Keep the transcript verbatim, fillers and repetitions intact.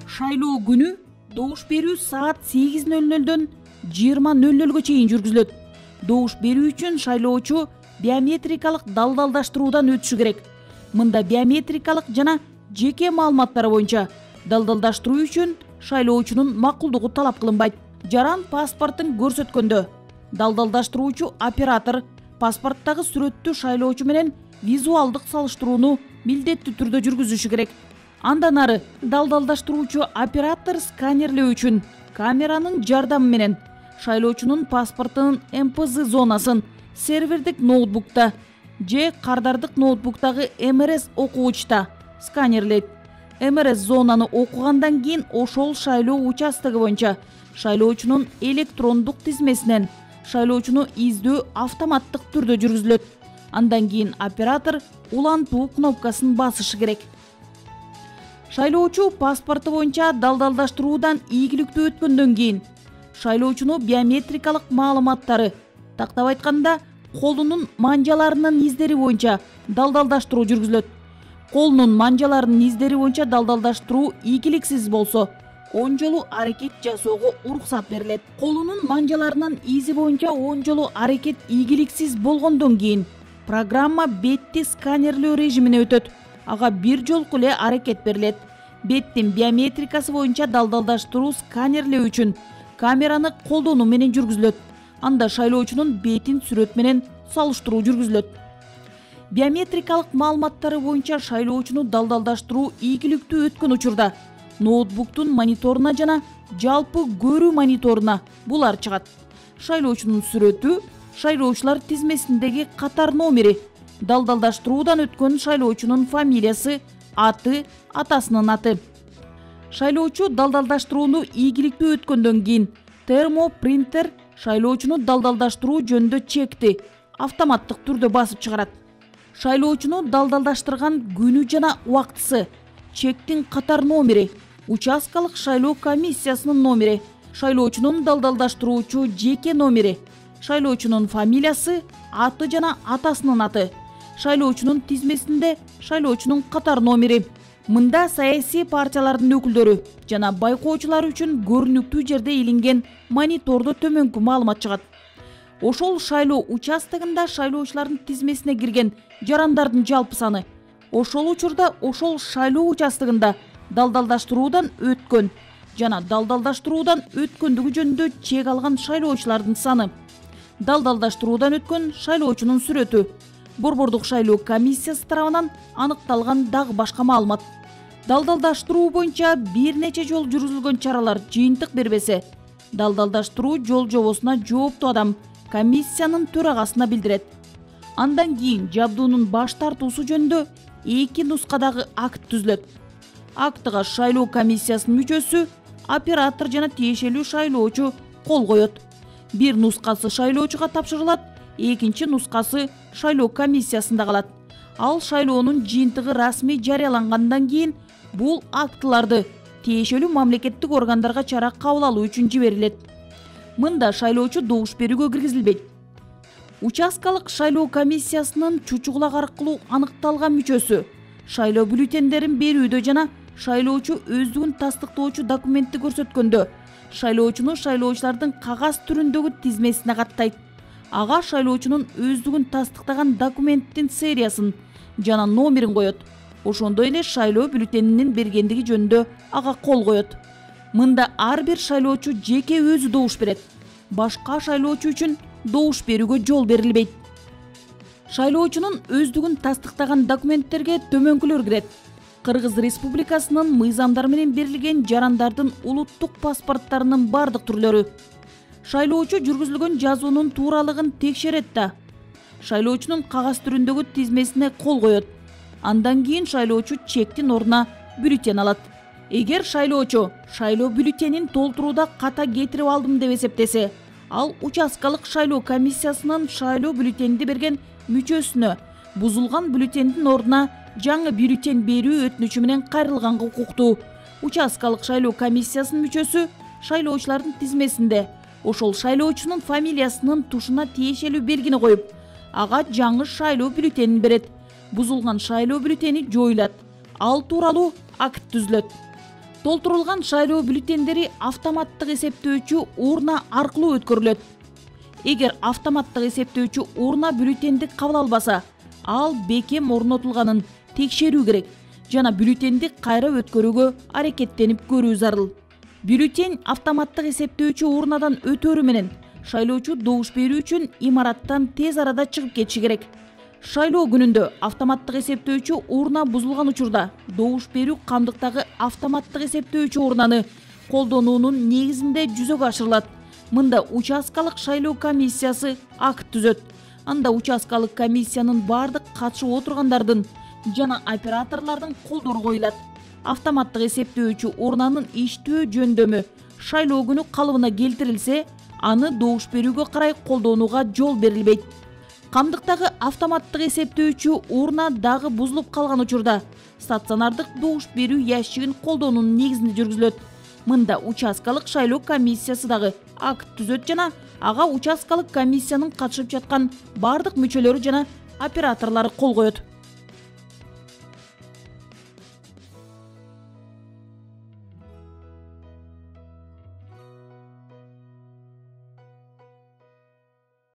Шайлоо күнү добуш берүү саат сегиз ноль нолдон жыйырма ноль нольго чейин жүргүзүлөт. Добуш берүү үчүн шайлоочу биометрикалык далдалдаштыруудан өтүшү керек. Мында биометрикалык жана жеке маалыматтары боюнча далдалдаштыруу үчүн шайлоочунун макулдугу талап кылынбайт. Жаран паспортун көрсөткөндө далдалдаштыруучу оператор паспорттогу сүрөттү шайлоочу менен визуалдык салыштырууну милдеттүү түрдө жүргүзүшү керек. Андан ары далдалдаштыруучу оператор сканерлөө үчүн камеранын жардамы менен шайлоочунун паспортунун эм пэ зэ зонасын сервердик ноутбукта же кардардык ноутбуктагы эм эр эс окугучта сканерлейт. эм эр эс зонаны окугандан кийин ошол шайлоо участогу боюнча шайлоочунун электрондук тизмесинен шайлоочуну издөө автоматтык түрдө жүргүзүлөт. Андан кийин оператор улантуу кнопкасын басышы керек. Шайлоочу паспорту боюнча далдалдаштыруудан ийгиликтүү өткөндөн кийин шайлоочуну биометрикалык маалыматтары, тактап айтканда колунун манжаларынын издери боюнча далдалдаштыруу жүргүзүлөт. Колунун манжаларынын издери боюнча далдалдаштыруу ийгиликсиз болсо, он жолу аракет жасоого уруксат берилет. Колунун манжаларынын изи боюнча он жолу аракет ийгиликсиз болгондон кийин программа бетти сканерлөө режимине өтөт. Ага бир жолку эле аракет берилет. Беттин биометрикасы боюнча далдалдаштыруу сканерлөө үчүн камераны колдонуу менен жүргүзүлөт. Анда шайлоочунун бетин сүрөт менен салыштыруу жүргүзүлөт. Биометрикалык маалыматтары боюнча шайлоочуну далдалдаштыруу ийгиликтүү өткөн учурда ноутбуктун мониторуна жана жалпы көрүү мониторуна булар чыгат. Шайлоочунун сүрөтү, шайлоочулар тизмесиндеги катар номери, далдалдаштыруудан өткөн шайлоочунун фамилиясы, аты, атасынын аты. Шайлоочу далдалдаштырууну ийгиликтүү өткөндөн кийин термопринтер шайлоочуну далдалдаштыруу жөнүндө чекти автоматтык түрдө басып чыгарат. Шайлоочуну далдалдаштырган күнү жана убактысы, чектин катар номери, участкалык шайлоо комиссиясынын номери, шайлоочунун далдалдаштыруучу жеке номери, шайлоочунун фамилиясы, аты жана атасынын аты, шайлоочунун тизмесинде шайлоочунун катар номери. Мында саясий партиялардын өкүлдөрү жана байкоочулар үчүн көрүнүктүү жерде илинген монитордо төмөнкү маалымат чыгат. Ошол шайлоо участогунда шайлоочулардын тизмесине кирген жарандардын жалпы саны, ошол учурда ошол шайлоо участогунда далдалдаштыруудан өткөн жана далдалдаштыруудан өткөндүгү жөнүндө чек алган шайлоочулардын саны, далдалдаштыруудан өткөн шайлоочунун сүрөтү, борбордук шайлоо комиссиясы тарабынан аныкталган дагы башка маалымат. Далдалдаштыруу боюнча бир нече жол жүргүзүлгөн чаралар жыйынтык бербесе, далдалдаштыруу жол жобосуна жооптуу адам комиссиянын төрагасына билдирет. Андан кийин жабдуунун баш тартуусу жөнүндө эки нускадагы акт түзүлөт. Актыга шайлоо комиссиясынын мүчөсү, оператор жана тиешелүү шайлоочу кол коет. Бир нускасы шайлоочуга тапшырылат, экинчи нускасы шайлоо комиссиясында калат. Ал шайлоонун жыйынтыгы расмий жарыялангандан кийин бул актыларды тиешелүү мамлекеттик органдарга чара кабыл алуу үчүн жиберилет. Мында шайлоочу добуш берүүгө киргизилбейт. Участкалык шайлоо комиссиясынын чучугулак аркылуу аныкталган мүчөсү шайлоо бюллетендерин берүүдө жана шайлоочу өздүгүн тастыктоочу документти көрсөткөндө шайлоочуну шайлоочулардын кагаз түрүндөгү тизмесине каттайт. Ага шайлоочунун өздүгүн тастыктаган документтин сериясын жана номерин коет. Ошондой эле шайлоо бюллетенинин бергендиги жөнүндө ага кол коет. Мында ар бир шайлоочу жеке өзү добуш берет. Башка шайлоочу үчүн добуш берүүгө жол берилбейт. Шайлоочунун өздүгүн тастыктаган документтерге төмөнкүлөр кирет. Кыргыз Республикасынын мыйзамдары менен берилген жарандардын улуттук паспорттарынын бардык түрлөрү. Шайлоочу жүргүзүлгөн жазуунун тууралыгын текшерет да шайлоочунун кагаз түрүндөгү тизмесине кол коет. Андан кийин шайлоочу чектин ордуна бюллетен алат. Эгер шайлоочу шайлоо бюллетенин толтурууда ката кетирип алдым деп эсептесе, ал участкалык шайлоо комиссиясынын шайлоо бюллетенди берген мүчөсүнө бузулган бюллетендин ордуна жаңы бюллетен берүү өтүнүчү менен кайрылганга укуктуу. Участкалык шайлоо комиссиясынын мүчөсү шайлоочулардын тизмесинде ошол шайлоочунун фамилиясынын тушуна тиешелүү белгини коюп, ага жаңы шайлоо бюллетенин берет. Бузулган шайлоо бюллетени жоюлат. Ал тууралуу акт түзүлөт. Толтурулган шайлоо бюллетендери автоматтык эсептөөчү урна аркылуу өткөрүлөт. Эгер автоматтык эсептөөчү урна бюллетенди кабыл албаса, ал бекем орнотулганын текшерүү керек жана бюллетенди кайра өткөрүүгө аракеттенип көрүү зарыл. Бюллетень автоматтык эсептөөчү урнадан өтөрү менен шайлоочу добуш берүү үчүн имараттан тез арада чыгып кетиши керек. Шайлоо күнүндө автоматтык эсептөөчү урна бузулган учурда добуш берүү камдыктагы автоматтык эсептөөчү урнаны колдонуунун негизинде жүзөгө ашырылат. Мында участкалык шайлоо комиссиясы акт түзөт. Анда участкалык комиссиянын бардык катышып отургандардын жана операторлордун колдору коюлат. Автоматтык эсептөөчү урнанын иштөө жөндөмү шайлоо күнү калыбына келтирилсе, аны добуш берүүгө карай колдонууга жол берилбейт. Камдыктагы автоматтык эсептөөчү урна дагы бузулуп калган учурда стационардык добуш берүү ящигин колдонуунун негизинде жүргүзүлөт. Мында участкалык шайлоо комиссиясы дагы акт түзөт жана ага участкалык комиссиянын катышып жаткан бардык мүчөлөрү жана операторлору кол коет.